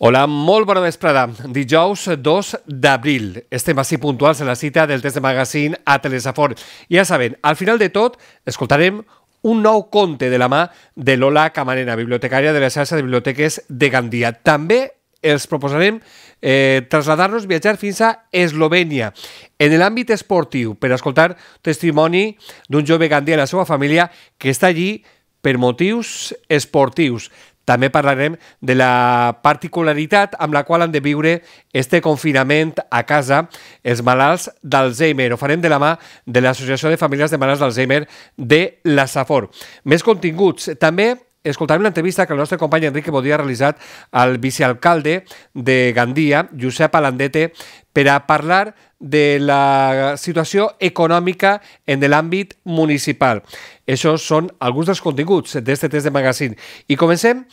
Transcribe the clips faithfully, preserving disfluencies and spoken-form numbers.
Hola, molt bona vesprada. Dijous dos d'abril. Estem així puntuals en la cita del test de magazine a Telesafor. Ja saben, al final de tot, escoltarem un nou conte de la mà de Lola Camarena, bibliotecària de la xarxa de biblioteques de Gandia. També els proposarem eh, traslladar-nos, viatjar fins a Eslovènia. En l'àmbit esportiu, per escoltar testimoni d'un jove gandia i la seva família que està allí per motius esportius. També parlarem de la particularitat amb la qual han de viure este confinament a casa els malalts d'Alzheimer. Ho farem de la mà de l'Associació de Famílies de Malalts d'Alzheimer de la Safor. Més continguts. També escoltarem l'entrevista que el nostre company Enrique Bodí ha realitzat al vicealcalde de Gandia, Josep Alandete, per a parlar de la situació econòmica en l'àmbit municipal. Això són alguns dels continguts d'aquest test de magazine. I comencem,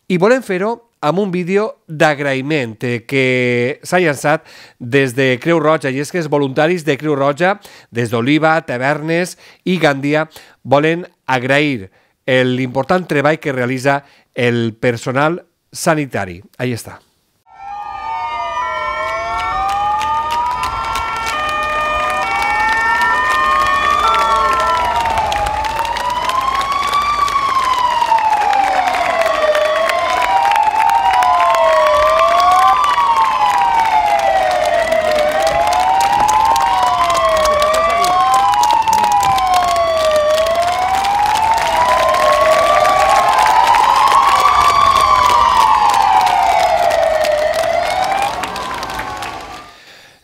i volem fer-ho amb un vídeo d'agraïment que s'ha llançat des de Creu Roja, i és que els voluntaris de Creu Roja, des d'Oliva, Tavernes i Gandia, volen agrair l'important treball que realitza el personal sanitari. Ahí està.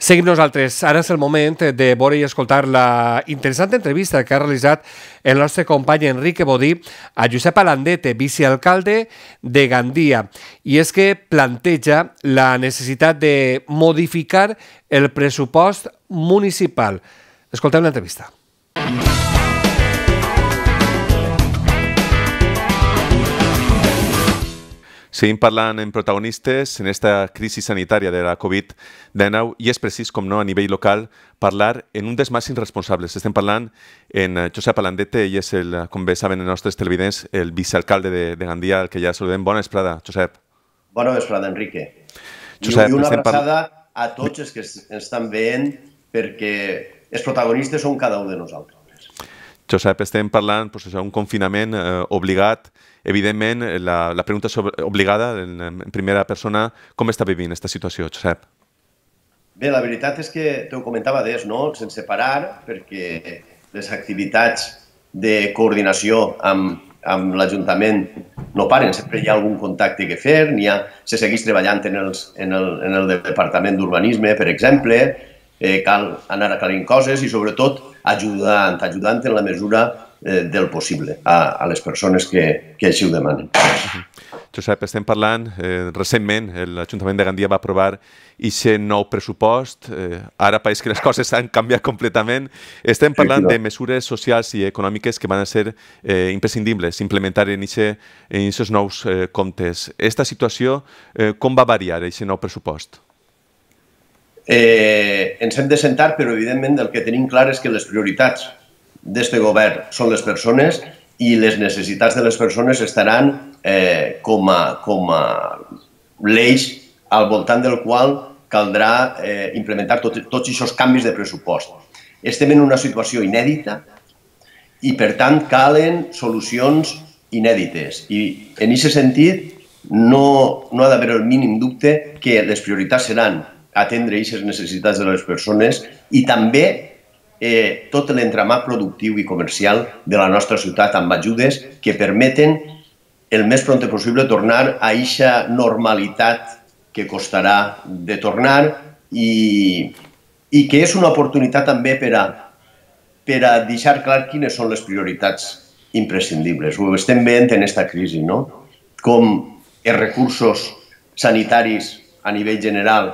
Seguim nosaltres. Ara és el moment de veure i escoltar la interessant entrevista que ha realitzat el nostre company Enrique Bodí a Josep Alandete, vicealcalde de Gandia. I és que planteja la necessitat de modificar el pressupost municipal. Escoltem l'entrevista. Seguim parlant en protagonistes en esta crisi sanitària de la covid dinou i és precís, com no, a nivell local, parlar en un dels màxims responsables. Estem parlant en Josep Alandete i és, el, com bé saben els nostres televidents, el vicealcalde de, de Gandia, el que ja saludem. Bona vesprada, Josep. Bona vesprada, Enrique. Josep, I una abraçada a tots els que ens estan veient, perquè els protagonistes són cada un de nosaltres. Josep, estem parlant doncs, d'un confinament eh, obligat. Evidentment, la, la pregunta sobre, obligada en, en primera persona, com està vivint aquesta situació, Josep? Bé, la veritat és que t'ho comentava des, no? Sense parar, perquè les activitats de coordinació amb, amb l'Ajuntament no paren, sempre hi ha algun contacte que fer, n'hi ha, se segueix treballant en, els, en, el, en el Departament d'Urbanisme, per exemple, eh, cal anar aclarint coses i sobretot ajudant, ajudant en la mesura eh, del possible a, a les persones que, que així ho demanen. Josep, estem parlant, eh, recentment l'Ajuntament de Gandia va aprovar aquest nou pressupost, eh, ara pareix que les coses han canviat completament. Estem parlant sí, de mesures socials i econòmiques que van ser eh, imprescindibles implementar en aquests nous eh, comptes. Aquesta situació, eh, com va variar aquest nou pressupost? Eh, ens hem de sentar, però evidentment el que tenim clar és que les prioritats d'aquest govern són les persones i les necessitats de les persones estaran eh, com a, com a l'eix al voltant del qual caldrà eh, implementar tot, tots aquests canvis de pressupost. Estem en una situació inèdita i, per tant, calen solucions inèdites. I, en aquest sentit, no, no ha d'haver el mínim dubte que les prioritats seran atendre aquestes necessitats de les persones i també eh, tot l'entramat productiu i comercial de la nostra ciutat amb ajudes que permeten el més pront possible tornar a aquesta normalitat que costarà de tornar i, i que és una oportunitat també per a, per a deixar clar quines són les prioritats imprescindibles. Ho estem veient en aquesta crisi, no? Com els recursos sanitaris a nivell general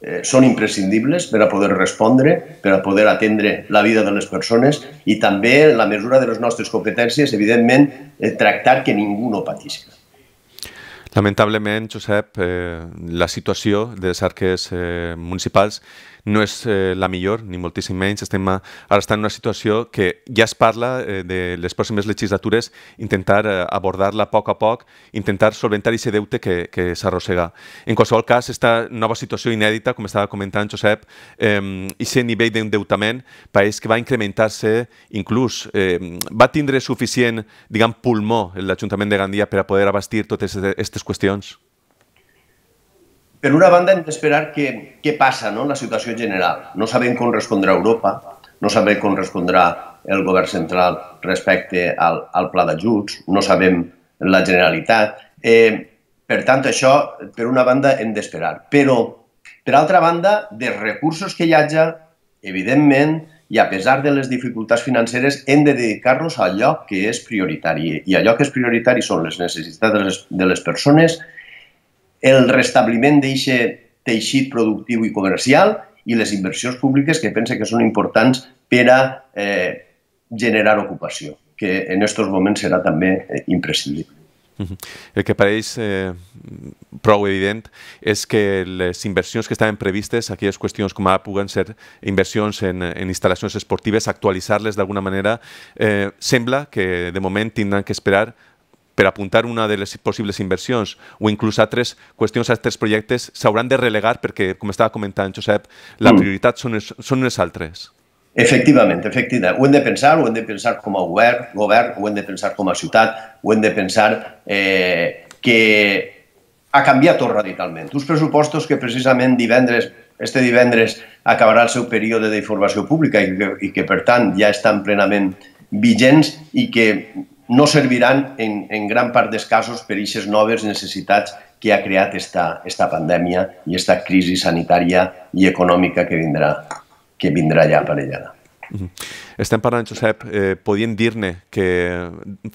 Eh, són imprescindibles per a poder respondre, per a poder atendre la vida de les persones i també, en la mesura de les nostres competències, evidentment, eh, tractar que ningú no patisca. Lamentablement, Josep, eh, la situació de les arques eh, municipals no és eh, la millor, ni moltíssim menys. Estem a, ara estem en una situació que ja es parla eh, de les pròximes legislatures, intentar eh, abordar-la a poc a poc, intentar solventar aquest deute que, que s'arrossega. En qualsevol cas, aquesta nova situació inèdita, com estava comentant Josep, eh, aquest nivell d'endeutament pareix que va incrementar-se inclús. Eh, va tindre suficient, diguem, pulmó l'Ajuntament de Gandia per a poder abastir totes aquestes qüestions? Per una banda, hem d'esperar què, què passa, no?, en la situació general. No sabem com respondrà Europa, no sabem com respondrà el govern central respecte al, al pla d'ajuts, no sabem la Generalitat. Eh, per tant, això, per una banda, hem d'esperar. Però, per altra banda, dels recursos que hi hagi, evidentment, i a pesar de les dificultats financeres, hem de dedicar-los a allò que és prioritari. I allò que és prioritari són les necessitats de les, de les persones, el restabliment d'aquest teixit productiu i comercial i les inversions públiques que pense que són importants per a eh, generar ocupació, que en aquests moments serà també eh, imprescindible. El que pareix eh, prou evident és que les inversions que estaven previstes, aquelles qüestions com ara puguen ser inversions en, en instal·lacions esportives, actualitzar-les d'alguna manera, eh, sembla que de moment tindran que esperar per apuntar una de les possibles inversions o inclús altres qüestions, altres projectes, s'hauran de relegar perquè, com estava comentant Josep, la prioritat són, són unes altres. Efectivament, efectivament. Ho hem de pensar, ho hem de pensar com a govern, govern, ho hem de pensar com a ciutat, ho hem de pensar eh, que ha canviat tot radicalment. Uns pressupostos que precisament divendres, este divendres acabarà el seu període d'informació pública i que, i que per tant ja estan plenament vigents i que no serviran en, en gran part dels casos per a aquestes noves necessitats que ha creat esta, esta pandèmia i esta crisi sanitària i econòmica que vindrà, que vindrà ja aparellada. Estem parlant, Josep, eh, podien dir-ne que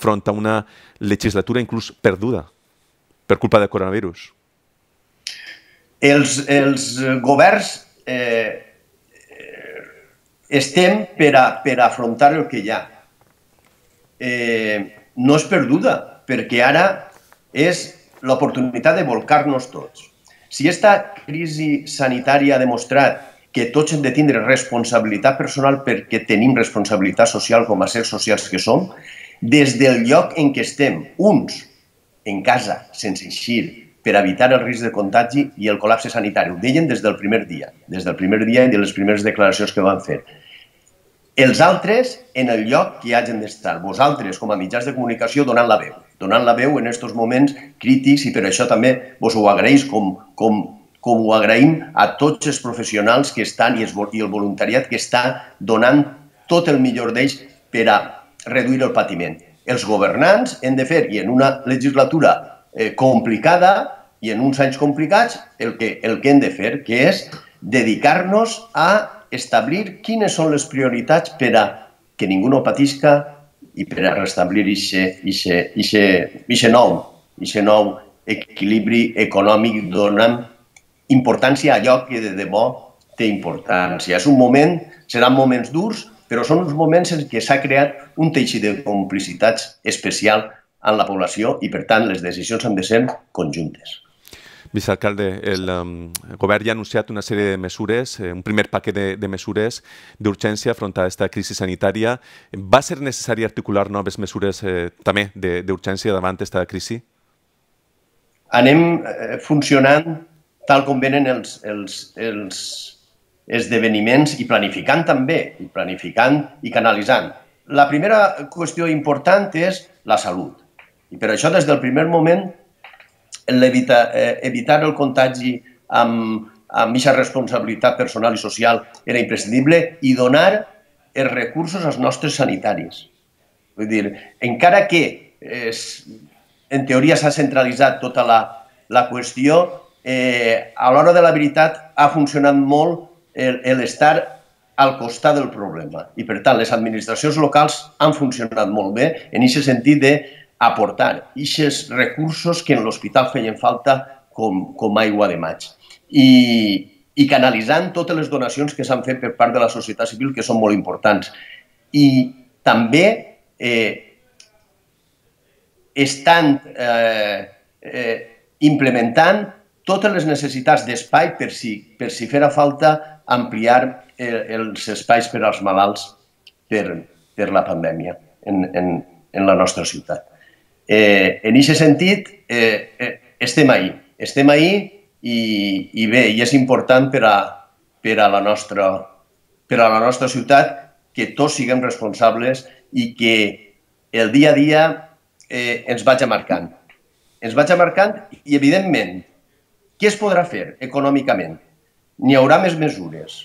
front a una legislatura inclús perduda per culpa del coronavirus. Els, els governs eh, estem per a, per a afrontar el que hi ha. Eh, no és perduda, perquè ara és l'oportunitat de volcar-nos tots. Si aquesta crisi sanitària ha demostrat que tots hem de tindre responsabilitat personal perquè tenim responsabilitat social com a sers socials que som, des del lloc en què estem, uns en casa, sense eixir, per evitar el risc de contagi i el col·lapse sanitari. Ho deien des del primer dia, des del primer dia i de les primeres declaracions que van fer. Els altres en el lloc que hagin d'estar. Vosaltres, com a mitjans de comunicació, donant la veu. Donant la veu en aquests moments crítics i per això també vos ho agraïs com, com, com ho agraïm a tots els professionals que estan i el voluntariat que està donant tot el millor d'ells per a reduir el patiment. Els governants hem de fer, i en una legislatura eh, complicada i en uns anys complicats, el que, el que hem de fer, que és dedicar-nos a establir quines són les prioritats per a que ningú no patisca i per a restablir aquest nou, nou equilibri econòmic donant importància a allò que de debò té importància. És un moment, seran moments durs, però són uns moments en què s'ha creat un teixit de complicitats especial en la població i, per tant, les decisions han de ser conjuntes. Vicealcalde, el um, govern ja ha anunciat una sèrie de mesures, eh, un primer paquet de, de mesures d'urgència front a aquesta crisi sanitària. Va ser necessari articular noves mesures eh, també d'urgència davant d'aquesta crisi? Anem eh, funcionant tal com venen els, els, els esdeveniments i planificant també, i planificant i canalitzant. La primera qüestió important és la salut. I per això, des del primer moment, Evitar, eh, evitar el contagi amb aquesta responsabilitat personal i social era imprescindible i donar els recursos als nostres sanitaris. Vull dir, encara que eh, en teoria s'ha centralitzat tota la, la qüestió, eh, a l'hora de la veritat ha funcionat molt l'estar al costat del problema. I per tant, les administracions locals han funcionat molt bé en aquest sentit de aportar aquests recursos que en l'hospital feien falta com, com aigua de maig. I, i canalitzant totes les donacions que s'han fet per part de la societat civil, que són molt importants. I també eh, estan eh, eh, implementant totes les necessitats d'espai per si, per si farà falta ampliar eh, els espais per als malalts per, per la pandèmia en, en, en la nostra ciutat. Eh, en aquest sentit, eh, eh, estem ahí, estem ahí i, i bé, i és important per a, per a, la, nostra, per a la nostra ciutat que tots siguem responsables i que el dia a dia eh, ens vagi marcant. Ens vagi marcant i, evidentment, què es podrà fer econòmicament? N'hi haurà més mesures,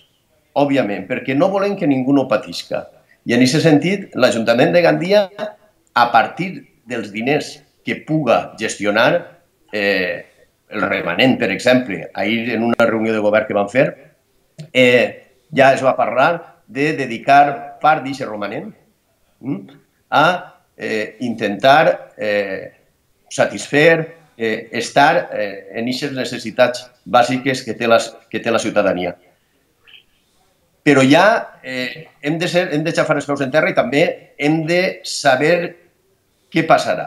òbviament, perquè no volem que ningú no patisca. I en aquest sentit, l'Ajuntament de Gandia, a partir dels diners que puga gestionar, eh, el remanent, per exemple, ahir en una reunió de govern que vam fer, eh, ja es va parlar de dedicar part d'aquest romanent hm, a eh, intentar eh, satisfer, eh, estar eh, en aquestes necessitats bàsiques que té la, que té la ciutadania. Però ja eh, hem de ser, hem de xafar els peus en terra i també hem de saber què passarà.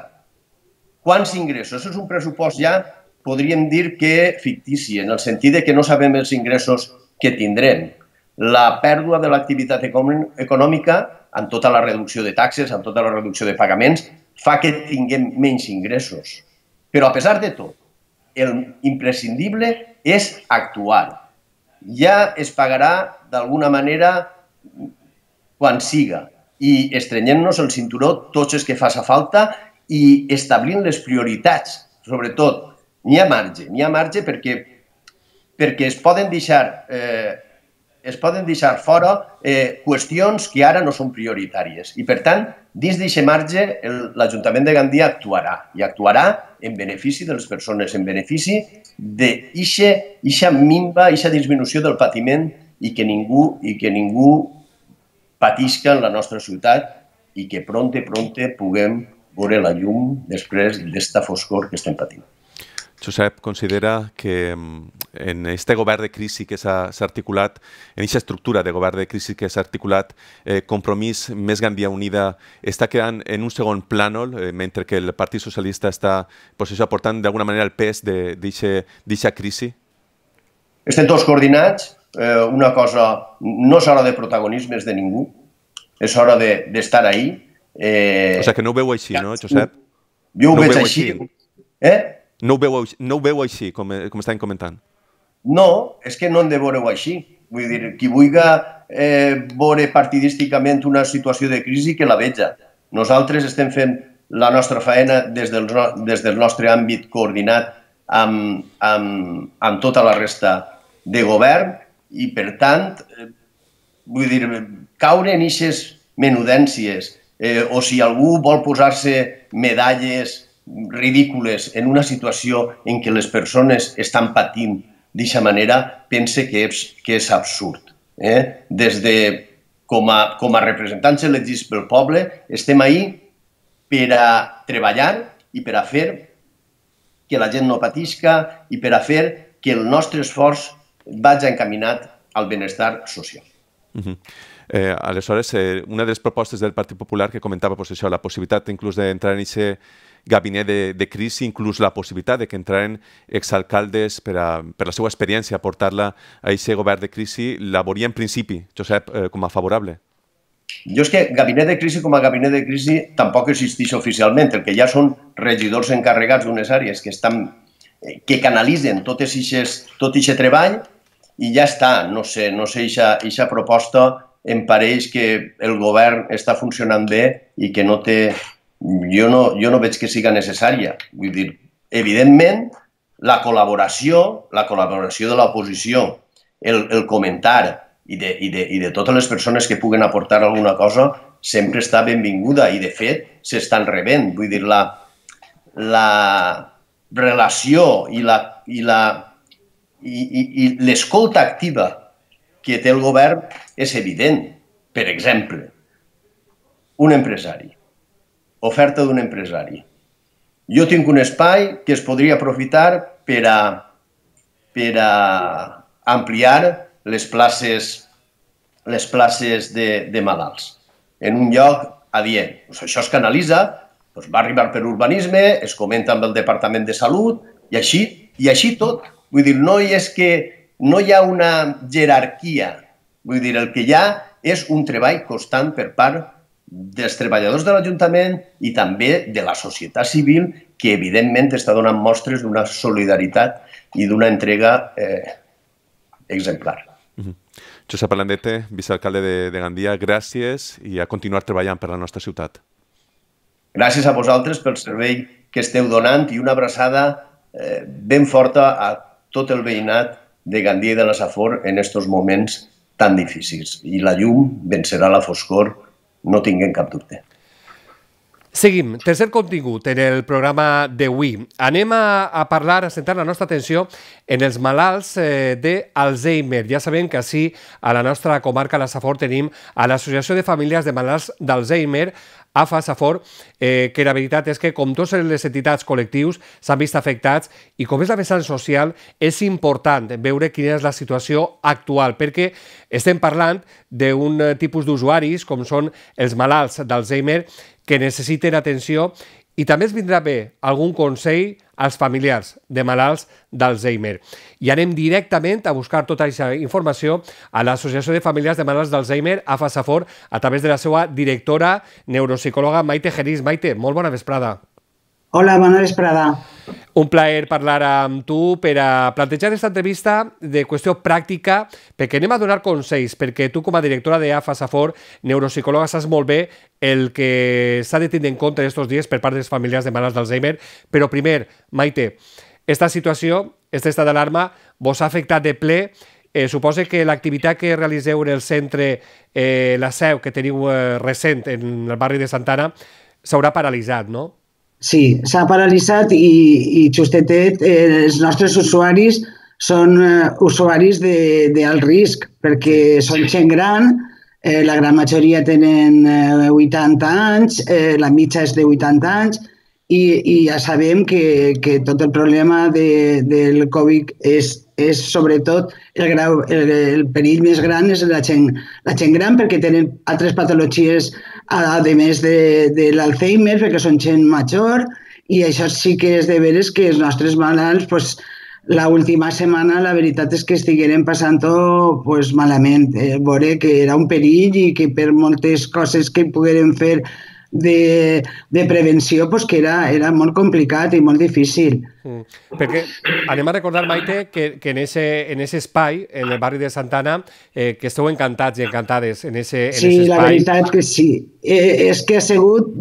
Quants ingressos? Això és un pressupost ja, podríem dir que fictici, en el sentit que no sabem els ingressos que tindrem. La pèrdua de l'activitat econòmica, amb tota la reducció de taxes, amb tota la reducció de pagaments, fa que tinguem menys ingressos. Però, a pesar de tot, el imprescindible és actuar. Ja es pagarà d'alguna manera quan siga i estrenyent-nos el cinturó tots els que faci falta i establint les prioritats. Sobretot, n'hi ha marge, n'hi ha marge perquè, perquè es poden deixar... Eh, es poden deixar fora eh, qüestions que ara no són prioritàries. I, per tant, dins d'aquest marge, l'Ajuntament de Gandia actuarà, i actuarà en benefici de les persones, en benefici d'aquesta minva, aquesta disminució del patiment i que ningú, i que ningú patisca en la nostra ciutat i que pronte, pronte puguem veure la llum després d'esta foscor que estem patint. Josep, considera que en este govern de crisi que s'ha articulat, en aquesta estructura de govern de crisi que s'ha articulat, eh, Compromís més Gandia Unida està quedant en un segon plànol, eh, mentre que el Partit Socialista està pues, això, aportant d'alguna manera el pes d'aquesta crisi? Estem tots coordinats. Eh, una cosa, no és hora de protagonismes de ningú, és hora d'estar de, ahí. Eh, o sigui que no ho veu així, no, Josep? Jo ho no veig així. així. Eh? No ho veu, no ho veu així, com, com estàvem comentant? No, és que no hem de veure-ho així. Vull dir, qui vulgui eh, veure partidísticament una situació de crisi, que la veja. Nosaltres estem fent la nostra feina des del, des del nostre àmbit coordinat amb, amb, amb tota la resta de govern i, per tant, eh, vull dir, caure en aquestes menudències eh, o si algú vol posar-se medalles ridícules en una situació en què les persones estan patint d'aquesta manera, pense que és, que és absurd. Eh? Des de, com a, com a representants elegits pel poble, estem ahí per a treballar i per a fer que la gent no patisca i per a fer que el nostre esforç vagi encaminat al benestar social. Uh-huh. Eh, aleshores, eh, una de les propostes del Partit Popular que comentava pues, això, la possibilitat inclús d'entrar en aquest gabinet de, de crisi, inclús la possibilitat de que entraren exalcaldes per, a, per la seva experiència a portar-la a aquest govern de crisi, la veuria en principi, Josep, eh, com a favorable? Jo és que gabinet de crisi com a gabinet de crisi tampoc existeix oficialment, el que ja són regidors encarregats d'unes àrees que, estan, que canalitzen tot aquest treball i ja està, no sé, no sé, aquesta proposta em pareix que el govern està funcionant bé i que no té... Jo no, jo no veig que siga necessària. Vull dir, evidentment, la col·laboració, la col·laboració de l'oposició, el, el comentar i de, i, de, i de totes les persones que puguen aportar alguna cosa sempre està benvinguda i, de fet, s'estan rebent. Vull dir, la, la relació i la... I la i, i, i l'escolta activa que té el govern és evident. Per exemple, un empresari, oferta d'un empresari. Jo tinc un espai que es podria aprofitar per a, per a ampliar les places, les places de, de malalts en un lloc adient. Pues això es canalitza, pues va arribar per urbanisme, es comenta amb el Departament de Salut i així, i així tot. Vull dir, no és que no hi ha una jerarquia. Vull dir, el que hi ha és un treball constant per part dels treballadors de l'Ajuntament i també de la societat civil, que evidentment està donant mostres d'una solidaritat i d'una entrega eh, exemplar. Uh-huh. Josep Alandete, vicealcalde de, de Gandia, gràcies i a continuar treballant per la nostra ciutat. Gràcies a vosaltres pel servei que esteu donant i una abraçada eh, ben forta a tot el veïnat de Gandia i de la Safor en aquests moments tan difícils. I la llum vencerà la foscor, no tinguem cap dubte. Seguim. Tercer contingut en el programa d'avui. Anem a, a parlar, a centrar la nostra atenció en els malalts eh, d'Alzheimer. Ja sabem que així a la nostra comarca, la Safor, tenim a l'Associació de Famílies de Malalts d'Alzheimer, A F A Safor, eh, que la veritat és que, com totes les entitats col·lectius, s'han vist afectats i com és la vessant social, és important veure quina és la situació actual, perquè estem parlant d'un tipus d'usuaris, com són els malalts d'Alzheimer, que necessiten atenció i també es vindrà bé algun consell als familiars de malalts d'Alzheimer. I anem directament a buscar tota aquesta informació a l'Associació de Famílies de Malalts d'Alzheimer, A F A Safor, a través de la seva directora neuropsicòloga Maite Genís. Maite, molt bona vesprada. Hola, bona vesprada. Un plaer parlar amb tu per a plantejar aquesta entrevista de qüestió pràctica, perquè anem a donar consells, perquè tu com a directora de A F A Safor, neuropsicòloga, saps molt bé el que s'ha de tenir en compte aquests dies per part dels familiars de malalts d'Alzheimer. Però primer, Maite, aquesta situació, aquest estat d'alarma, vos ha afectat de ple. Eh, suposo que l'activitat que realiseu en el centre, eh, la seu que teniu eh, recent en el barri de Santana, s'haurà paralitzat, no? Sí, s'ha paralitzat i, i justetet, eh, els nostres usuaris són eh, usuaris d'alt risc, perquè són gent gran, eh, la gran majoria tenen eh, vuitanta anys, eh, la mitja és de vuitanta anys, i, i ja sabem que, que tot el problema de, del Covid és, és sobretot el, grau, el, el perill més gran és la gent, la gent gran, perquè tenen altres patologies a més de, de l'Alzheimer, perquè són gent major, i això sí que és de veres que els nostres malalts, pues, l'última setmana la veritat és que estigueren passant-ho pues, malament. Eh, veure que era un perill i que per moltes coses que pogueren fer de, de prevenció, pues, que era, era molt complicat i molt difícil. Mm. Perquè anem a recordar, Maite, que, que en ese, en ese espai, en el barri de Santana, eh, que esteu encantats i encantades en ese, en sí, ese espai. Sí, la veritat que sí. Eh, és que ha sigut,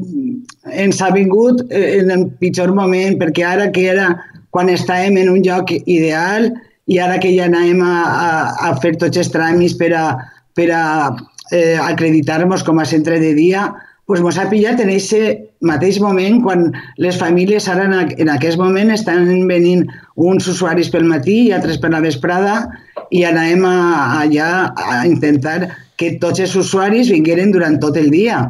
ens ha vingut en el pitjor moment, perquè ara que era quan estàvem en un lloc ideal i ara que ja anàvem a, a, a fer tots els tràmits per a, per a eh, acreditar-nos com a centre de dia, pues mos ha pillat en aquest mateix moment quan les famílies ara en aquest moment estan venint uns usuaris pel matí i altres per la vesprada i anàvem a, allà a intentar que tots els usuaris vingueren durant tot el dia.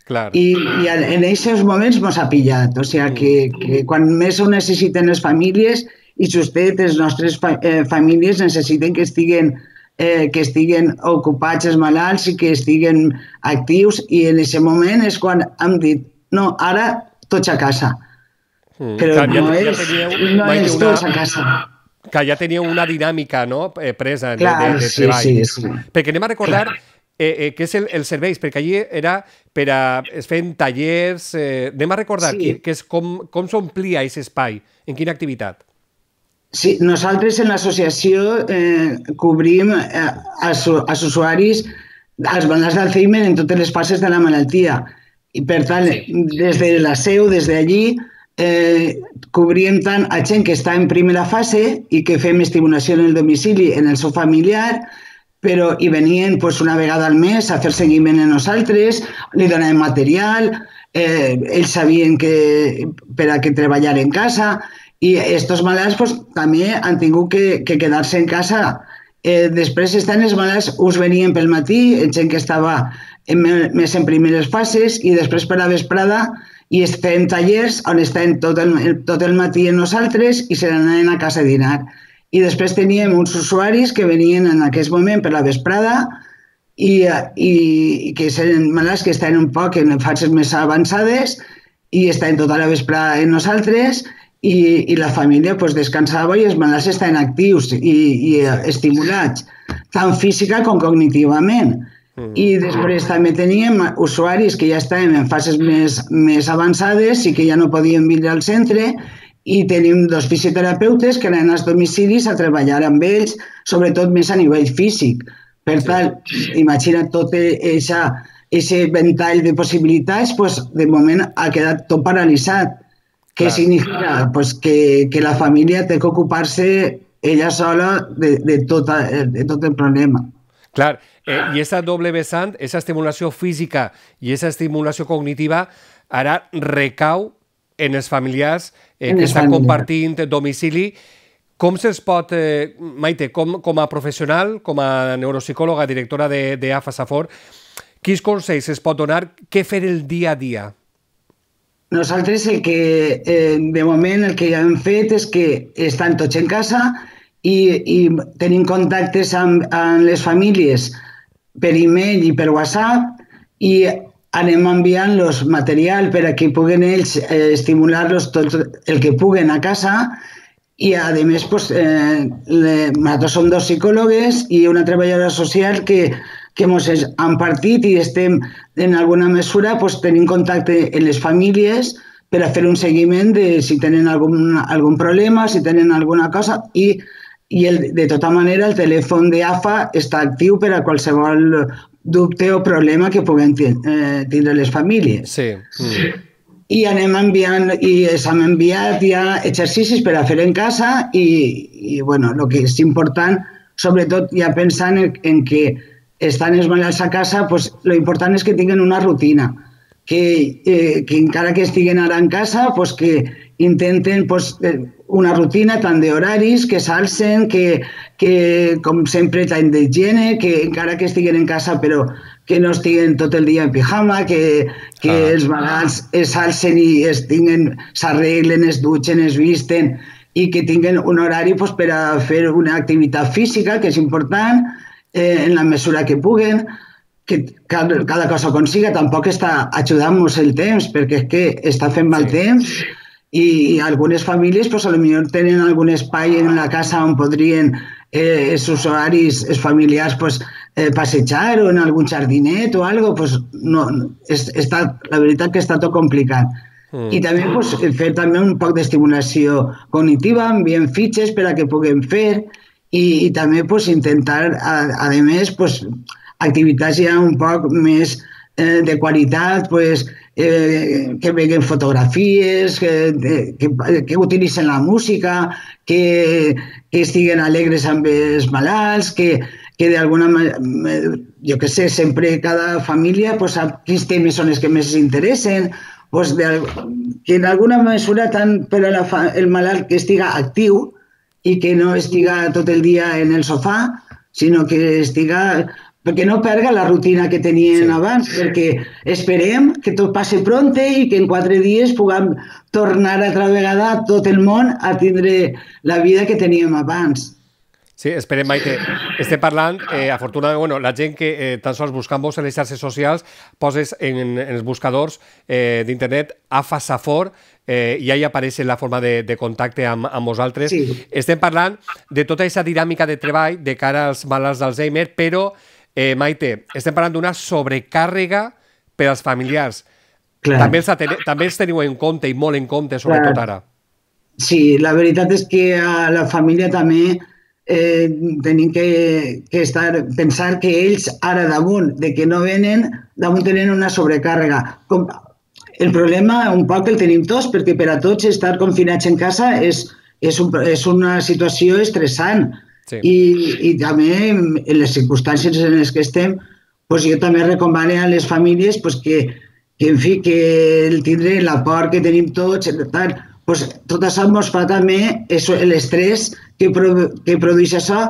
Clar. I, i en aquests moments mos ha pillat. O sigui que, que quan més ho necessiten les famílies i justet les nostres fa, eh, famílies necessiten que estiguen Eh, que estiguen ocupats els malalts i que estiguen actius i en aquest moment és quan hem dit no, ara tots a casa. Mm, però clar, no, ja, és, ja teníeu, no és una, tots a casa. Que ja teníeu una dinàmica, no?, eh, presa de, clar, de, de sí, treball. Sí, sí. Perquè anem a recordar eh, eh, què és el, els serveis, perquè allí era per a es feien tallers, eh, anem a recordar sí. que, que és com, com s'omplia aquest espai, en quina activitat. Sí, nosaltres en l'associació eh, cobrim eh, als, als usuaris els malalts d'Alzheimer en totes les fases de la malaltia. I per tant, sí. des de la seu, des d'allí, eh, cobrim tant a gent que està en primera fase i que fem estimulació en el domicili, en el seu familiar, però hi venien pues, una vegada al mes a fer seguiment a nosaltres, li donàvem material, eh, ells sabien que per a que treballar en casa. I aquests malalts pues, també han tingut que, que quedar-se en casa. Eh, després estan els malalts, us venien pel matí, gent que estava en, més en primeres fases, i després per la vesprada i estem tallers on estem tot el, tot el matí en nosaltres i se n'anaven a casa a dinar. I després teníem uns usuaris que venien en aquest moment per la vesprada i, i, i que eren malalts que estaven un poc en fases més avançades i estaven tota la vesprada en nosaltres. i, i la família pues, descansava i els malalts estaven actius i, i estimulats, tant física com cognitivament. Mm. I després també teníem usuaris que ja estaven en fases més, més avançades i que ja no podien vindre al centre, i tenim dos fisioterapeutes que anaven als domicilis a treballar amb ells, sobretot més a nivell físic. Per tant, imagina't tot aquest ventall de possibilitats, pues, de moment ha quedat tot paralitzat. Què significa? Pues que, que la família té que ocupar-se ella sola de, de, tot, de tot el problema. Clar, eh, i aquesta doble vessant, aquesta estimulació física i aquesta estimulació cognitiva, ara recau en els familiars eh, que estan compartint domicili. Com se'ls pot, eh, Maite, com, com a professional, com a neuropsicòloga, directora de, de A F A Safor, quins consells es pot donar? Què fer el dia a dia? Nosaltres el que, eh, de moment, el que ja hem fet és que estan tots en casa i, i tenim contactes amb, amb les famílies per e-mail i per WhatsApp i anem enviant-los material per a que puguen ells eh, estimular-los tot el que puguen a casa i, a més, pues, eh, le, nosaltres som dos psicòlogues i una treballadora social que, que ens han partit i estem, en alguna mesura, pues, tenim contacte amb les famílies per a fer un seguiment de si tenen algun, algun problema, si tenen alguna cosa i i el, de tota manera el telèfon de A F A està actiu per a qualsevol dubte o problema que puguem eh, tindre les famílies. Sí. Mm. I anem enviant, i s'han enviat ja exercicis per a fer en casa i, i bueno, el que és important, sobretot ja pensant en, en que estan els malalts a casa, pues, lo important és que tinguin una rutina, que, eh, que encara que estiguen ara en casa, pues, que intenten pues, una rutina tant d'horaris, que s'alcen, que, que com sempre tant d'higiene, que encara que estiguen en casa però que no estiguen tot el dia en pijama, que, que ah. els malalts s'alcen i es tinguen, s'arreglen, es dutxen, es visten i que tinguin un horari pues, per a fer una activitat física, que és important, eh, en la mesura que puguen, que cada, cada cosa consiga, tampoc està ajudant-nos el temps, perquè és que està fent mal sí. temps, i, i algunes famílies pues, potser tenen algun espai en la casa on podrien eh, els usuaris, els familiars pues, eh, passejar o en algun jardinet o algo, pues, no, és, està, la veritat que està tot complicat. Mm. I també pues, fer també un poc d'estimulació cognitiva, enviem fitxes per a que puguem fer i, i també pues, intentar, a, a més, pues, activitats ja un poc més eh, de qualitat, pues, eh, que veguen fotografies, que, que, que utilitzen la música, que, que estiguen alegres amb els malalts, que, que d'alguna manera, jo que sé, sempre cada família pues, sap quins temes són els que més interessen, pues, de, que en alguna mesura tant per a la, el malalt que estiga actiu i que no estiga tot el dia en el sofà, sinó que estiga... perquè no perga la rutina que tenien sí. abans, perquè esperem que tot passi pronte i que en quatre dies puguem tornar altra vegada tot el món a tindre la vida que teníem abans. Sí, esperem, Maite. Estem parlant, eh, afortunadament, bueno, la gent que eh, tan sols buscant-vos en les xarxes socials poses en, en els buscadors eh, d'internet A F A Safor eh, i allà apareix la forma de, de contacte amb, amb vosaltres. Sí. Estem parlant de tota aquesta dinàmica de treball de cara als malalts d'Alzheimer, però Eh, Maite, estem parlant d'una sobrecàrrega per als familiars. També els, també els teniu en compte i molt en compte, sobretot Clar. ara. Sí, la veritat és que a la família també eh, tenim que, que estar, pensar que ells ara damunt de que no venen, damunt tenen una sobrecàrrega. Com, el problema un poc el tenim tots, perquè per a tots estar confinats en casa és, és, un, és una situació estressant. Sí. I, i també en les circumstàncies en les que estem pues jo també recomano a les famílies pues que, que en fi que el tindre la por que tenim tots tal, pues tot això ens fa també l'estrès que, pro, que produeix això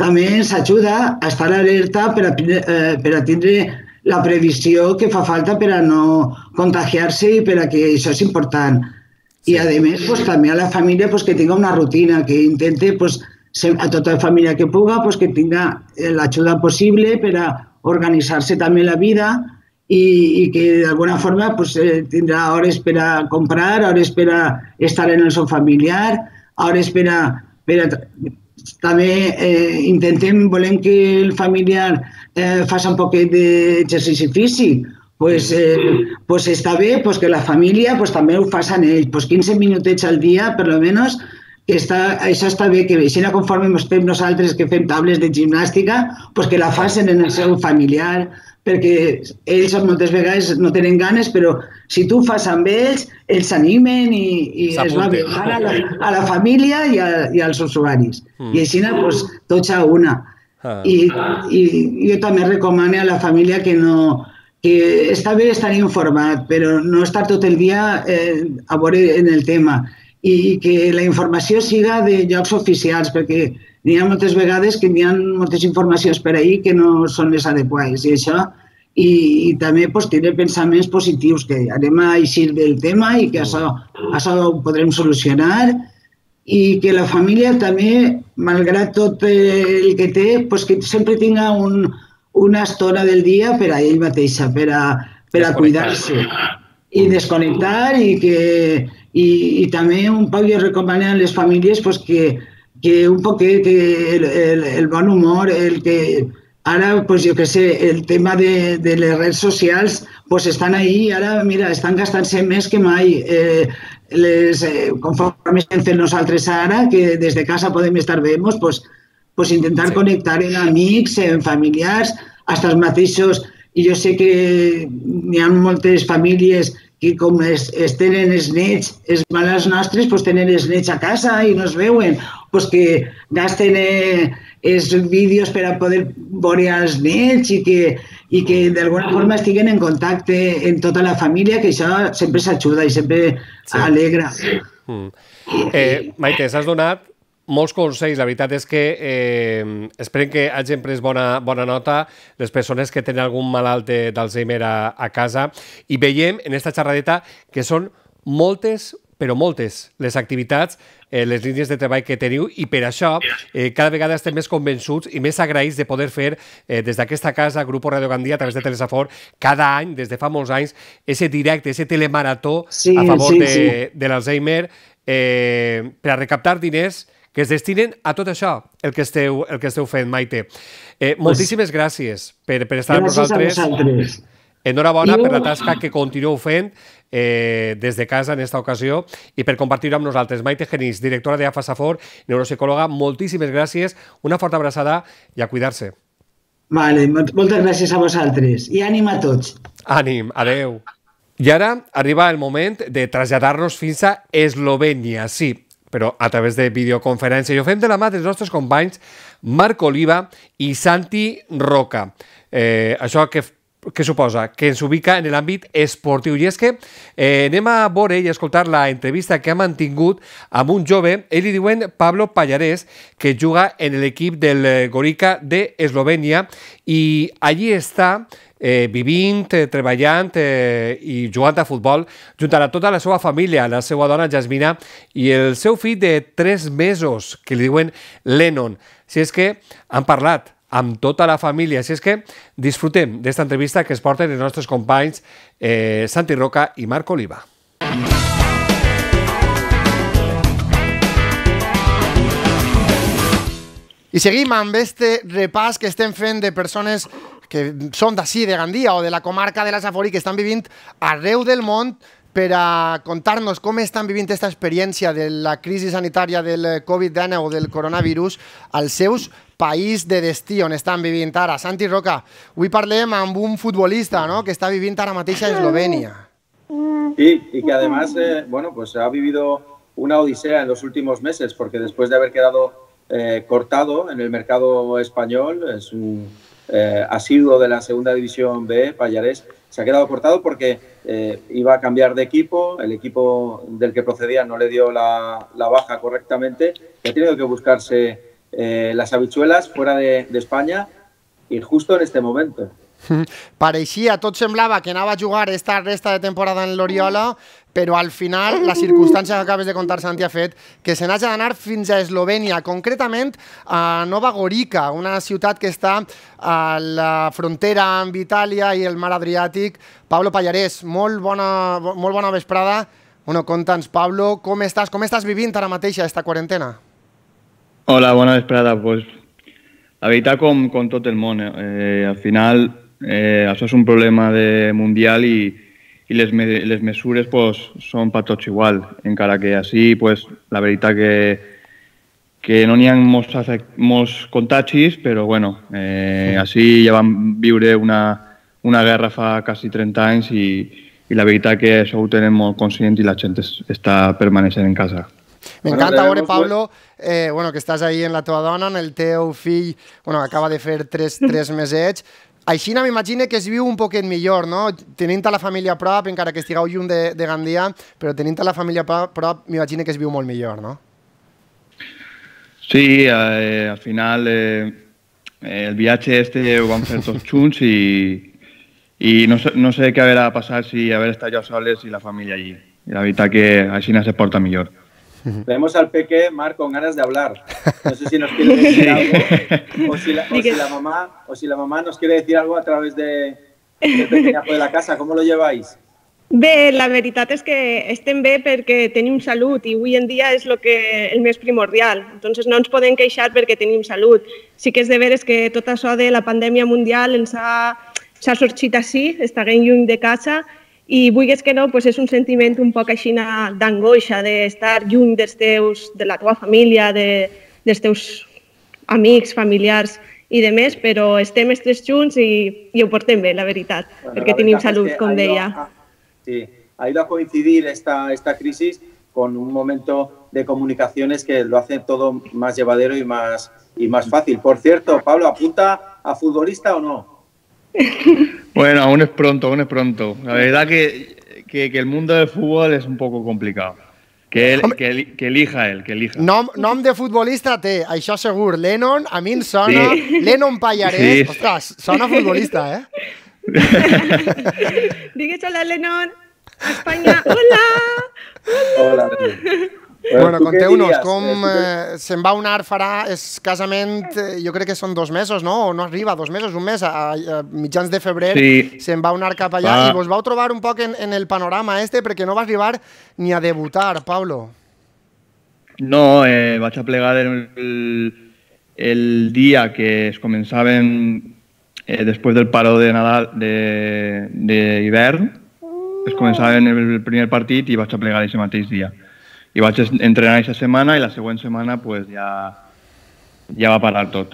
també ens ajuda a estar alerta per a, eh, per a tindre la previsió que fa falta per a no contagiar-se i per a que això és important. Sí. I a més pues, també a la família pues, que tinga una rutina, que intente pues, a tota la família que puga, pues, que tinga l'ajuda possible per a organitzar-se també la vida i, i que d'alguna forma pues, eh, tindrà hores per a comprar, hores per a estar en el seu familiar, hores per a... Per a també eh, intentem, volem que el familiar eh, faci un poquet d'exercici físic, pues, eh, pues està bé pues que la família pues, també ho facin ells, pues quinze minutets al dia, per almenys, que està, això està bé, que així conforme ens fem nosaltres que fem tables de gimnàstica, pues que la facin en el seu familiar, perquè ells moltes vegades no tenen ganes, però si tu fas amb ells, ells s'animen i, i es va bé a la, a la família i, a, i als usuaris. Mm. I així pues, tots a una. Ah. I, I jo també recomano a la família que no... que està bé estar informat, però no estar tot el dia eh, a veure en el tema. I que la informació siga de llocs oficials, perquè n'hi ha moltes vegades que n'hi ha moltes informacions per ahir que no són les adequades. I això, i, i també pues, tenir pensaments positius, que anem a eixir del tema i que això, això ho podrem solucionar, i que la família també, malgrat tot el que té, pues, que sempre tinga un, una estona del dia per a ell mateixa, per a, per a cuidar-se i desconnectar, i que i, i també un poc jo recomano a les famílies pues, que, que un poquet que el, el, el bon humor, el que ara, pues, jo què sé, el tema de, de les redes socials pues, estan ahí, ara, mira, estan gastant-se més que mai. Eh, les, eh, conforme estem fent nosaltres ara, que des de casa podem estar bé, pues, pues, intentar sí. connectar en amics, en familiars, fins els mateixos. I jo sé que hi ha moltes famílies que com es, es tenen els nets, els malalts nostres, pues tenen els nets a casa i no es veuen, pues que gasten eh, els vídeos per a poder veure els nets i que, i que d'alguna forma estiguen en contacte en tota la família, que això sempre s'ajuda i sempre sí. alegra. Mm. Eh, Maite, s'has donat molts consells. La veritat és que eh, esperem que hagin pres bona, bona nota les persones que tenen algun malalt d'Alzheimer a, a casa, i veiem en esta xerradeta que són moltes, però moltes, les activitats, eh, les línies de treball que teniu, i per això eh, cada vegada estem més convençuts i més agraïts de poder fer eh, des d'aquesta casa, Grupo Radio Gandia, a través de Telesafor, cada any, des de fa molts anys, ese directe, ese telemarató sí, a favor sí, de, sí. de l'Alzheimer, eh, per a recaptar diners que es destinen a tot això, el que esteu, el que esteu fent, Maite. Eh, moltíssimes pues, gràcies per, per estar amb nosaltres. Enhorabona jo... per la tasca que continueu fent eh, des de casa en esta ocasió i per compartir-ho amb nosaltres. Maite Genís, directora de AFASAFOR, neuropsicòloga, moltíssimes gràcies, una forta abraçada i a cuidar-se. Vale, moltes gràcies a vosaltres i ànim a tots. Ànim, adeu. I ara arriba el moment de traslladar-nos fins a Eslovènia, sí, però a través de videoconferència. I ho fem de la mà dels nostres companys Marc Oliva i Santi Roca. Eh, això que, que suposa? Que ens ubica en l'àmbit esportiu. I és que eh, anem a veure i a escoltar la entrevista que ha mantingut amb un jove, ell li diuen Pablo Pallarés, que juga en l'equip del Gorica d'Eslovènia, i allí està Eh, vivint, eh, treballant eh, i jugant a futbol junt a tota la seva família, la seva dona Jasmina i el seu fill de tres mesos, que li diuen Lennon. Si és que han parlat amb tota la família, si és que disfrutem d'esta entrevista que es porten els nostres companys eh, Santi Roca i Marc Oliva. I seguim amb este repàs que estem fent de persones que són d'ací, de Gandia o de la comarca de la Safor i que estan vivint arreu del món per a contar-nos com estan vivint aquesta experiència de la crisi sanitària del Covid dinou o del coronavirus als seus país de destí on estan vivint ara. Santi Roca, avui parlem amb un futbolista, ¿no?, que està vivint ara mateix a Eslovènia. Sí, y que además eh, bueno, pues ha vivido una odisea en los últimos meses, porque después de haber quedado eh, cortado en el mercado español, es un Eh, asiduo de la segunda división B, Pallarés, se ha quedado cortado porque eh, iba a cambiar de equipo, el equipo del que procedía no le dio la, la baja correctamente y ha tenido que buscarse eh, las habichuelas fuera de, de España y justo en este momento. Pareixia, tot semblava que anava a jugar esta resta de temporada en l'Oriola, però al final la circumstància que acabes de contar, Santi, ha fet que se n'hagi d'anar fins a Eslovènia, concretament a Nova Gorica, una ciutat que està a la frontera amb Itàlia i el mar Adriàtic. Pablo Pallarès, molt bona, molt bona vesprada. Bueno, conta'ns, Pablo, com estàs, com estàs vivint ara mateix aquesta quarantena? Hola, bona vesprada. Pues, la veritat, com, com tot el món, eh, al final eh, això és un problema de mundial i i les, me les mesures pues, són per tots igual, encara que així pues, la veritat que, que no n'hi ha molts, molts contagis, però bueno, eh, així ja vam viure una, una guerra fa quasi trenta anys i, i la veritat que això ho tenem molt conscient i la gent es, està permaneixent en casa. M'encanta veure, Pablo, eh, bueno, que estàs ahí en la teva dona, en el teu fill, bueno, acaba de fer tres, tres mesets. Així m'imagino que es viu un poquet millor, no? Tenint a la família a prop, encara que estigueu lluny de, de Gandia, però tenint a la família a prop, m'imagino que es viu molt millor, no? Sí, eh, al final eh, el viatge este ho vam fer tots junts i, i no, sé, no sé què haurà passat si haver estat jo soles i la família allí. I la veritat que així se porta millor. Vemos al peque, Marc, con ganas de hablar. No sé si nos quiere decir algo o si la, o si la, mamá, o si la mamá nos quiere decir algo a través de, del pequeñazo de la casa. ¿Cómo lo lleváis? Bé, la veritat és que estem bé perquè tenim salut i avui en dia és lo que, el més primordial. Entonces no ens podem queixar perquè tenim salut. Sí que és de veres que tot això de la pandèmia mundial ens ha, s'ha sorgit així, estarem lluny de casa. I vulguis que no, pues és un sentiment un poc així d'angoixa, d'estar lluny dels teus, de la teva família, de, dels teus amics, familiars i de més, però estem els tres junts i, i ho portem bé, la veritat, bueno, perquè la tenim salut, es com deia. A, sí, ha ido a coincidir esta, esta crisis con un momento de comunicaciones que lo hace todo más llevadero y más, y más fácil. Por cierto, Pablo, ¿apunta a futbolista o no? Bueno, aún es pronto, aún es pronto. La verdad que, que, que el mundo del fútbol es un poco complicado. Que, él, que, que elija él, que elija. Nom, nom de futbolista té, això segur. Lennon, a mi em sona. Sí. Lennon Pallarès. Sí. Ostres, sona futbolista, eh? Digues hola, Lennon. Espanya, hola! Hola. Bueno, conteu-nos com eh, se'n va anar, farà escassament, eh, jo crec que són dos mesos, no? O no arriba, dos mesos, un mes, a, a mitjans de febrer, sí. Se'n va anar cap allà ah. i vos vau trobar un poc en, en el panorama este perquè no va arribar ni a debutar, Pablo. No, eh, vaig a plegar el, el dia que es començaven eh, després del paró de Nadal d'hivern, es començaven el primer partit i vaig a plegar aquest mateix dia. I vaig entrenar aquesta setmana i la següent setmana pues ya, ya va a parar tot.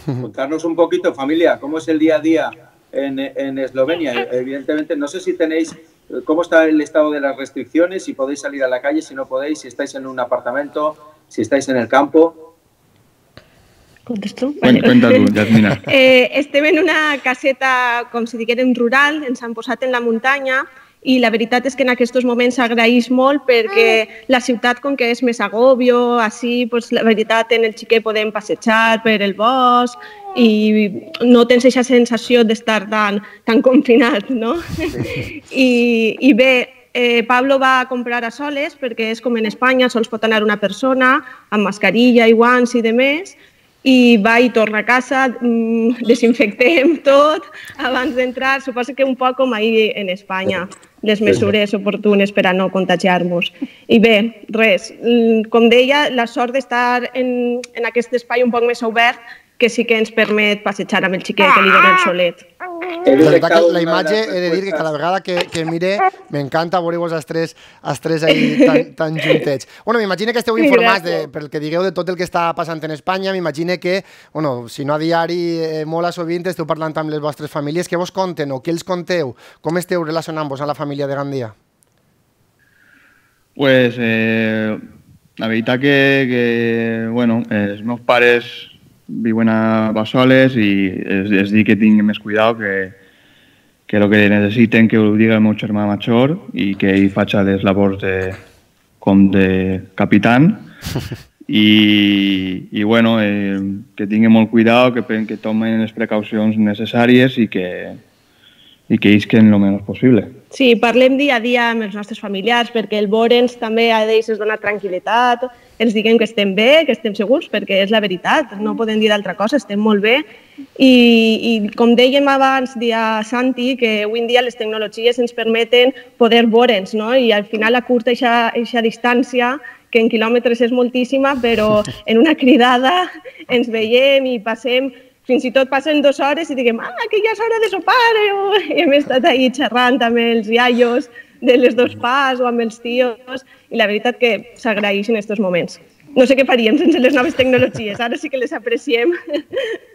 Contarnos un poquito, familia, cómo es el día a día en, en Eslovenia. Evidentemente, no sé si tenéis, cómo está el estado de las restricciones, si podéis salir a la calle, si no podéis, si estáis en un apartamento, si estáis en el campo. Contesto? Vale. Cuenta tu, Yasmina. Eh, estem en una caseta, com si diguérem, rural, ens han posat en la muntanya, i la veritat és que en aquests moments s'agraeix molt perquè la ciutat, com que és més agòbio, així, pues, la veritat, en el xiquet podem passejar per el bosc i no tens aquesta sensació d'estar tan, tan confinat, no? I, i bé, eh, Pablo va a comprar a soles perquè és com en Espanya, sols pot anar una persona amb mascarilla i guants i de més, i va i torna a casa, desinfectem tot abans d'entrar, suposo que un poc com ahir en Espanya, les mesures oportunes per a no contagiar-nos. I bé, res, com deia, la sort d'estar en, en aquest espai un poc més obert que sí que ens permet passejar amb el xiquet que li dona el solet. La veritat que la imatge, he de dir que cada vegada que, que mire, m'encanta veure-vos els tres, els tres ahí tan, tan juntets. Bueno, m'imagino que esteu informats de, pel que digueu de tot el que està passant en Espanya, m'imagino que, bueno, si no a diari, eh, molt a sovint esteu parlant amb les vostres famílies, què vos conten o què els conteu? Com esteu relacionant-vos amb la família de Gandia? Pues, eh, la veritat que, que bueno, els meus pares viuen a Bassoles i es, es dic que tinguin més cuidado, que, que el que necessiten que ho digui el meu germà major i que ell faci les labors de, com de capitán i, i bueno, eh, que tinguin molt cuidado, que, que tomen les precaucions necessàries i que, i que isquen el menys possible. Sí, parlem dia a dia amb els nostres familiars perquè el veure'ns també a ells ens dona tranquil·litat, ens diguem que estem bé, que estem segurs, perquè és la veritat, no podem dir d'altra cosa, estem molt bé. I, i com dèiem abans, dia Santi, que avui en dia les tecnologies ens permeten poder veure'ns, no? I al final acurta aquesta distància, que en quilòmetres és moltíssima, però en una cridada ens veiem i passem, fins i tot passen dues hores i diguem, ah, que ja és hora de sopar, i hem estat ahí xerrant amb els iaios de les dos pas o amb els tios, i la veritat que s'agraeix en aquests moments. No sé què faríem sense les noves tecnologies, ara sí que les apreciem.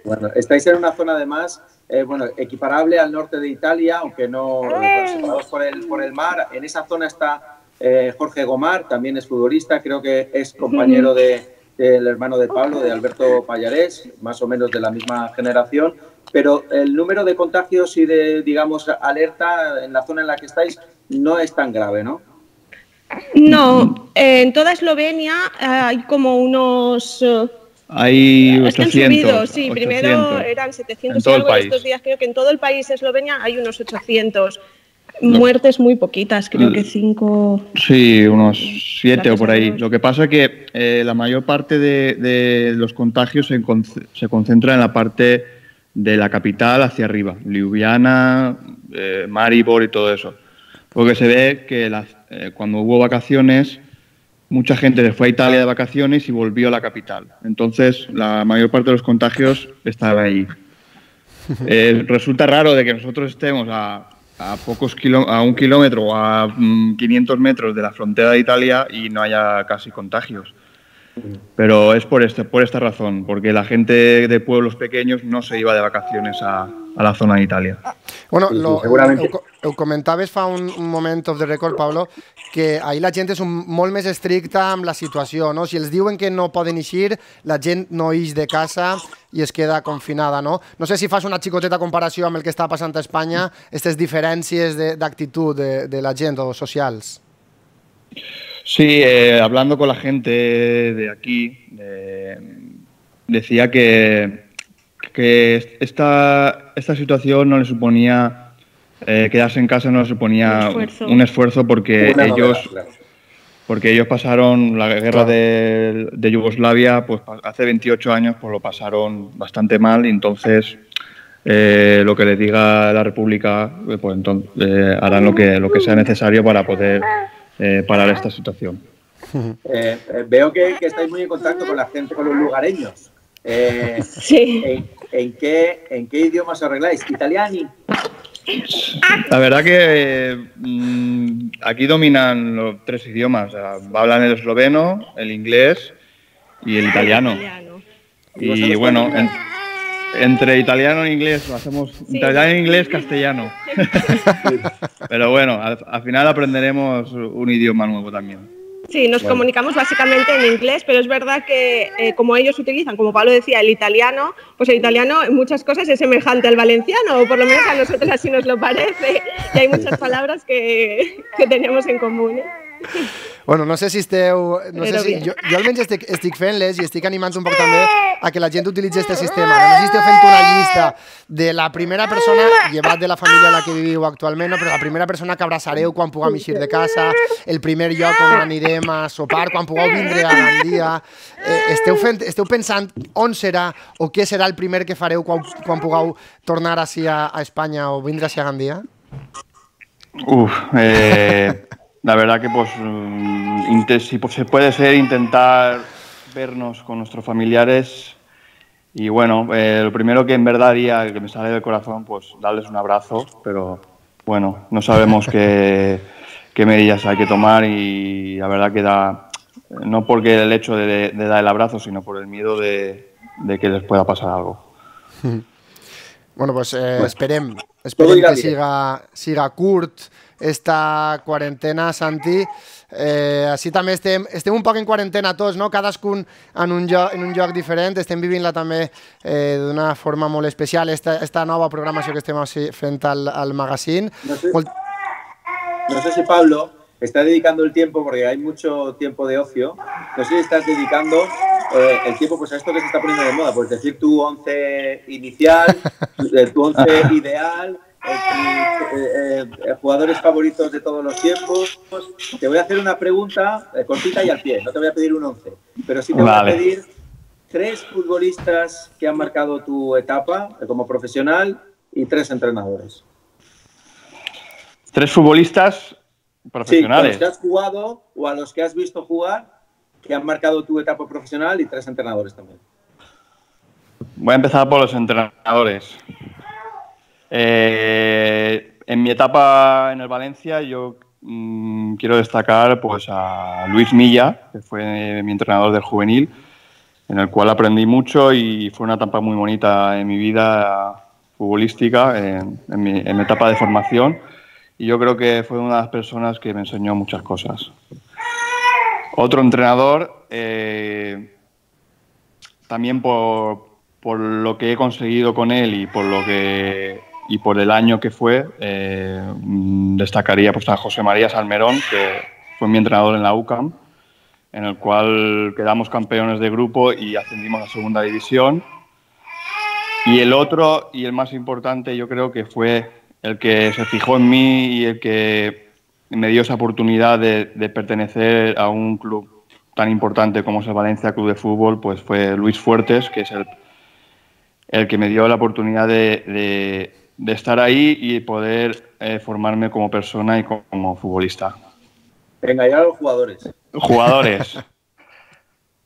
Bueno, estáis en una zona además, eh, bueno, equiparable al norte de Italia, aunque no bueno, separados por el, por el mar. En esa zona está eh, Jorge Gomar, también es futbolista, creo que es compañero de, del hermano de Pablo, de Alberto Pallarés, más o menos de la misma generación. Pero el número de contagios y de, digamos, alerta en la zona en la que estáis no es tan grave, ¿no? No, eh, en toda Eslovenia eh, hay como unos... Eh, hay ochocientos. Es que han subido, sí, ochocientos. Primero eran setecientos en todo y algo, el país. Estos días creo que en todo el país Eslovenia hay unos ochocientos. No. Muertes muy poquitas, creo que cinco... Sí, unos siete o por ahí. Lo que pasa es que eh, la mayor parte de, de los contagios se, con, se concentra en la parte de la capital hacia arriba, Ljubljana, eh, Maribor y todo eso. Porque se ve que las, eh, cuando hubo vacaciones, mucha gente se fue a Italia de vacaciones y volvió a la capital. Entonces, la mayor parte de los contagios estaba ahí. Eh, resulta raro de que nosotros estemos a, a, pocos kilo, a un kilómetro o a mm, quinientos metros de la frontera de Italia y no haya casi contagios. Pero es por, este, por esta razón, porque la gente de pueblos pequeños no se iba de vacaciones a, a la zona de Italia. Bueno, lo, seguramente. Ho, ho comentaves fa un, un moment of the record, Pablo, que ahir la gent és un, molt més estricta amb la situació, no? Si els diuen que no poden eixir, la gent no ix de casa i es queda confinada, no? No sé si fas una xicoteta comparació amb el que està passant a Espanya, aquestes diferències d'actitud de, de, de la gent o socials. Sí, eh, hablando con la gente de aquí, eh, decía que, que esta, esta situación no le suponía, eh, quedarse en casa no le suponía un esfuerzo, un esfuerzo porque, ellos, porque ellos pasaron la guerra de, de Yugoslavia, pues hace veintiocho años pues lo pasaron bastante mal y entonces eh, lo que les diga la República, pues entonces eh, harán lo que, lo que sea necesario para poder... Eh, parar esta situación. Eh, eh, veo que, que estáis muy en contacto con la gente, con los lugareños. Eh, sí. ¿en, en, qué, ¿En qué idioma os arregláis? ¿Italiani? La verdad que eh, mmm, aquí dominan los tres idiomas. O sea, hablan el esloveno, el inglés y el italiano. Y, y bueno, en, entre italiano e inglés lo hacemos sí. Italiano, inglés, castellano. Pero bueno, al, al final aprenderemos un idioma nuevo también. Sí, nos bueno. comunicamos básicamente en inglés, pero es verdad que eh, como ellos utilizan, como Pablo decía, el italiano, pues el italiano en muchas cosas es semejante al valenciano, o por lo menos a nosotros así nos lo parece, y hay muchas palabras que, que tenemos en común. ¿eh? Bueno, no sé si esteu... No sé si, jo, jo almenys estic, estic fent-les i estic animant un poc també a que la gent utilitzi aquest sistema. No sé si esteu fent una llista de la primera persona, llevat de la família en la que viviu actualment, no? Però la primera persona que abraçareu quan puguem eixir de casa, el primer lloc on anirem a sopar, quan pugueu vindre a Gandia. Eh, esteu, fent, esteu pensant on serà o què serà el primer que fareu quan, quan pugueu tornar així a, a Espanya o vindre així a Gandia? Uf, eh... La verdad que pues, si se puede ser intentar vernos con nuestros familiares y bueno, eh, lo primero que en verdad haría, que me sale del corazón, pues darles un abrazo, pero bueno, no sabemos qué, qué medidas hay que tomar y la verdad que da, no porque el hecho de, de dar el abrazo, sino por el miedo de, de que les pueda pasar algo. Bueno, pues eh, esperem, esperem que siga, siga curt esta quarantena, Santi. Eh, així també estem, estem un poc en quarantena tots, no? Cadascun en un lloc, en un lloc diferent, estem vivint-la també eh, d'una forma molt especial, esta, esta nova programació que estem fent al, al magazine. No sé, molt... no sé si Pablo está dedicando el tiempo, porque hay mucho tiempo de ocio, no sé si estás dedicando eh, el tiempo pues, a esto que se está poniendo de moda, pues decir tu once inicial, tu once ideal... eh, eh, jugadores favoritos de todos los tiempos. Te voy a hacer una pregunta eh, cortita y al pie, no te voy a pedir un once, pero sí te voy vale. a pedir tres futbolistas que han marcado tu etapa como profesional y tres entrenadores. ¿Tres futbolistas profesionales? Sí, a los que has jugado o a los que has visto jugar que han marcado tu etapa profesional y tres entrenadores también. Voy a empezar por los entrenadores. Eh, en mi etapa en el Valencia yo mmm, quiero destacar pues, a Luis Milla, que fue mi entrenador del juvenil, en el cual aprendí mucho y fue una etapa muy bonita en mi vida futbolística, en, en, mi, en mi etapa de formación. Y yo creo que fue una de las personas que me enseñó muchas cosas. Otro entrenador, eh, también por, por lo que he conseguido con él y por lo que y por el año que fue, eh, destacaría pues, a José María Salmerón, que fue mi entrenador en la U C A M, en el cual quedamos campeones de grupo y ascendimos a segunda división. Y el otro, y el más importante, yo creo que fue el que se fijó en mí y el que me dio esa oportunidad de, de pertenecer a un club tan importante como es el Valencia Club de Fútbol, pues fue Luis Fuertes, que es el, el que me dio la oportunidad de, de, de estar ahí y poder eh, formarme como persona y como, como futbolista. Venga, ya los jugadores. Jugadores.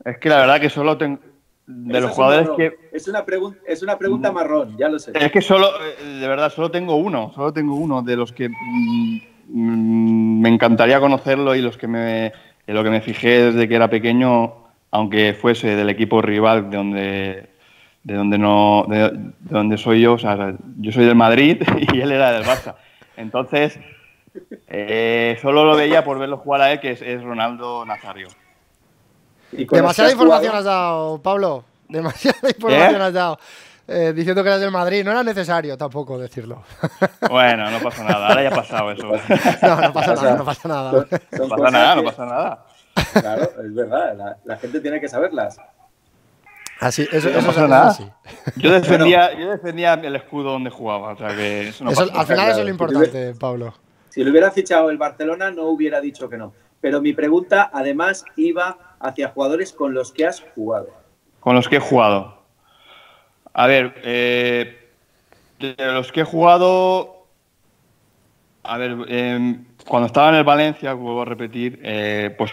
Es que la verdad que solo tengo... De Eso los jugadores que... Es una, es una pregunta marrón, ya lo sé. Es que solo, de verdad, solo tengo uno. Solo tengo uno de los que mmm, me encantaría conocerlo y los que me, en lo que me fijé desde que era pequeño, aunque fuese del equipo rival de donde, de donde, no, de, de donde soy yo. O sea, yo soy del Madrid y él era del Barça. Entonces, eh, solo lo veía por verlo jugar a él, que es, es Ronaldo Nazario. Demasiada información has dado, Pablo. Demasiada información ¿Eh? has dado. Eh, diciendo que eras del Madrid. No era necesario tampoco decirlo. Bueno, no pasa nada. Ahora ya ha pasado eso. No, no pasa nada, no pasa nada. No pasa nada, no pasa nada. Claro, es verdad. La, la gente tiene que saberlas. Así, eso, no eso pasa es nada. Así. Yo defendía, yo defendía el escudo donde jugaba. O sea que eso no eso, pasa al final nada. eso es lo importante, Pablo. Si lo hubiera fichado el Barcelona, no hubiera dicho que no. Pero mi pregunta, además, iba hacia jugadores con los que has jugado. Con los que he jugado. A ver, eh, de los que he jugado... A ver, eh, cuando estaba en el Valencia, vuelvo a repetir, eh, pues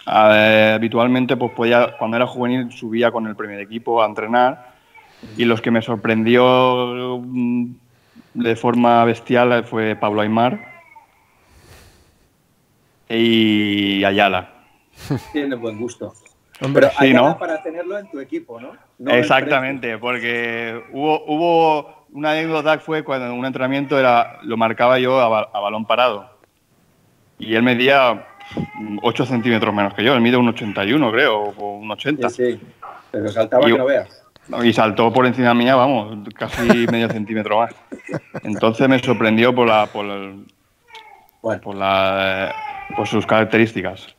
eh, habitualmente pues podía, cuando era juvenil subía con el primer equipo a entrenar y los que me sorprendió de forma bestial fue Pablo Aimar y Ayala. Tiene buen gusto. Hombre, Pero sí, Ayala ¿no? Para tenerlo en tu equipo, ¿no? no Exactamente, porque hubo, hubo una anécdota que fue cuando en un entrenamiento era, lo marcaba yo a, a balón parado. Y él medía ocho centímetros menos que yo. Él mide un ochenta y uno, creo, o un ochenta. Sí, sí. Pero saltaba y, que no veas. Y saltó por encima mía, vamos, casi medio centímetro más. Entonces me sorprendió por la... Por el, bueno. por la por sus características.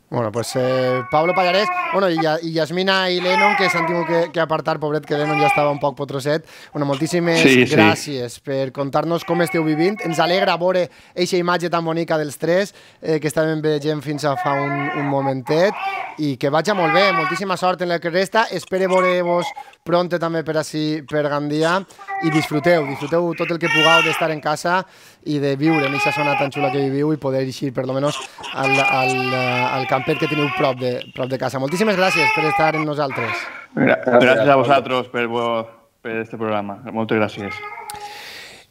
Bueno, pues eh, Pablo Pallarès, bueno, i, i Yasmina i Lennon, que s'han tingut que, que apartar, pobret, que Lennon ja estava un poc potroset. Bueno, moltíssimes sí, gràcies sí. per contar-nos com esteu vivint. Ens alegra veure aquesta imatge tan bonica dels tres, eh, que estàvem veient fins a fa un, un momentet, i que vaja molt bé, moltíssima sort en el que resta. Espero veure-vos pronte també per ací, per Gandia, i disfruteu, disfruteu tot el que pugueu d'estar en casa i de viure en aquesta zona tan xula que viviu i poder eixir, per lo menos, al, al, al campet que teniu prop de, prop de casa. Moltíssimes gràcies per estar amb nosaltres. Gràcies a vosaltres per, per este programa. Moltes gràcies.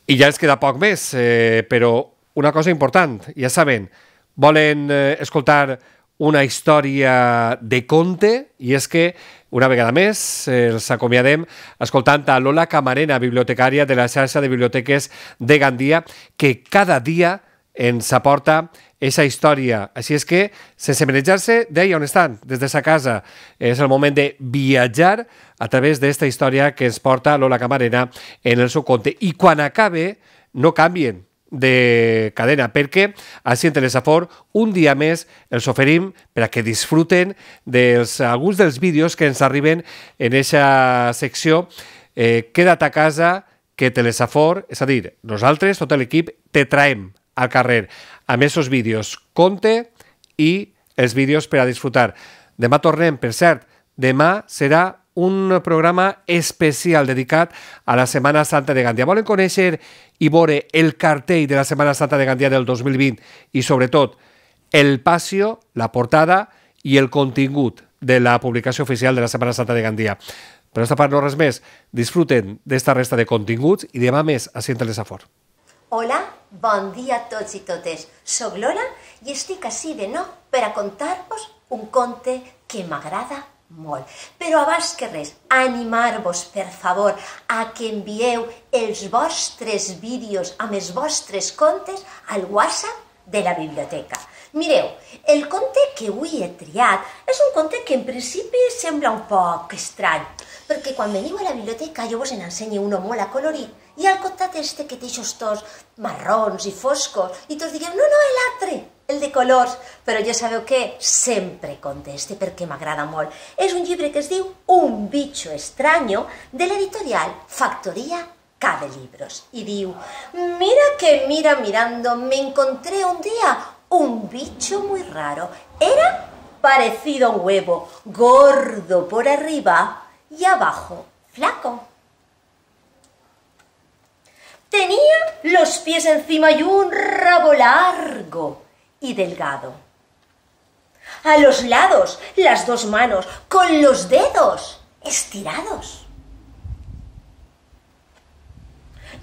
I ja ens queda poc més, eh, però una cosa important, ja saben, volen eh, escoltar una història de conte, i és que, una vegada més, eh, els acomiadem escoltant a Lola Camarena, bibliotecària de la xarxa de biblioteques de Gandia, que cada dia ens aporta aquesta història. Així és que, sense manejar-se d'ahí on estan, des de sa casa, és el moment de viatjar a través d'esta història que ens porta Lola Camarena en el seu conte. I quan acabe, no canvien de cadena, perquè així en Telesafor un dia més els oferim per a que disfruten dels, alguns dels vídeos que ens arriben en aquesta secció eh, Queda't a casa que Telesafor, és a dir, nosaltres, tot l'equip, te traem al carrer amb aquests vídeos, conte i els vídeos per a disfrutar. Demà tornem, per cert, demà serà un programa especial dedicat a la Setmana Santa de Gandia. Volen conèixer i veure el cartell de la Setmana Santa de Gandia del dos mil vint i, sobretot, el passio, la portada i el contingut de la publicació oficial de la Setmana Santa de Gandia. Per aquesta part no res més. Disfruten d'esta resta de continguts i demà més a Cint Telesafor. Hola, bon dia a tots i totes. Soc Lola i estic ací de nou per a contar-vos un conte que m'agrada molt. Però abans que res, animar-vos, per favor, a que envieu els vostres vídeos amb els vostres contes al WhatsApp de la biblioteca. Mireu, el conte que avui he triat és un conte que en principi sembla un poc estrany, perquè quan veniu a la biblioteca jo vos n'ensenyo uno molt acolorit i al costat este que té aquests tons marrons i foscos i tots digueu, no, no, l'altre, el de colors, però ja sabeu què? Sempre conteste perquè m'agrada molt. És un llibre que es diu Un bicho extraño de l'editorial Factoría Cabe Libros y diu, mira que mira mirando, me encontré un día un bicho muy raro. Era parecido a un huevo, gordo por arriba y abajo flaco. Tenía los pies encima y un rabo largo y delgado. A los lados, las dos manos, con los dedos estirados.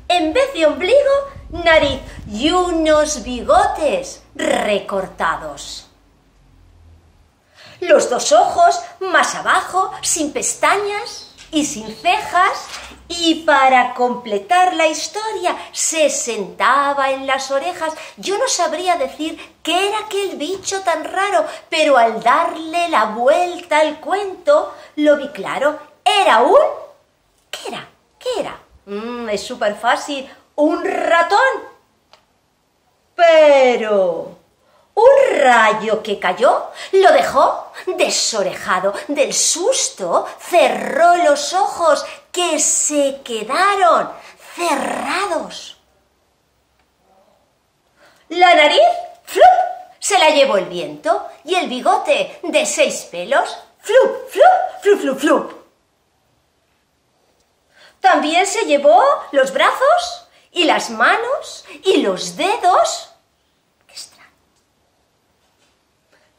En vez de ombligo, nariz y unos bigotes recortados. Los dos ojos más abajo, sin pestañas y sin cejas, y para completar la historia se sentaba en las orejas. Yo no sabría decir qué era aquel bicho tan raro, pero al darle la vuelta al cuento lo vi claro. Era un... ¿Qué era? ¿Qué era? Mm, es súper fácil. Un ratón. Pero un rayo que cayó lo dejó desorejado. Del susto cerró los ojos que se quedaron cerrados. La nariz, ¡flup!, se la llevó el viento y el bigote de seis pelos, ¡flup, flup, flup, flup, flup! También se llevó los brazos y las manos y los dedos. ¡Qué extraño!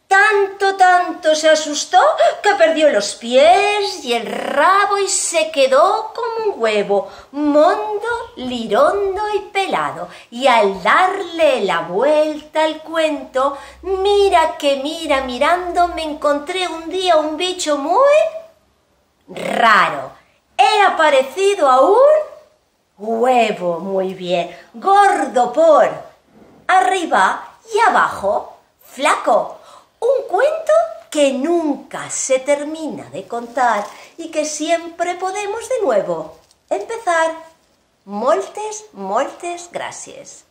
Tanto, tanto se asustó que perdió los pies y el rabo y se quedó como un huevo, mondo, lirondo y pelado. Y al darle la vuelta al cuento, mira que mira mirando, me encontré un día un bicho muy raro. Era parecido a un huevo, muy bien, gordo por arriba y abajo, flaco. Un cuento que nunca se termina de contar y que siempre podemos de nuevo empezar. Moltes, moltes gràcies.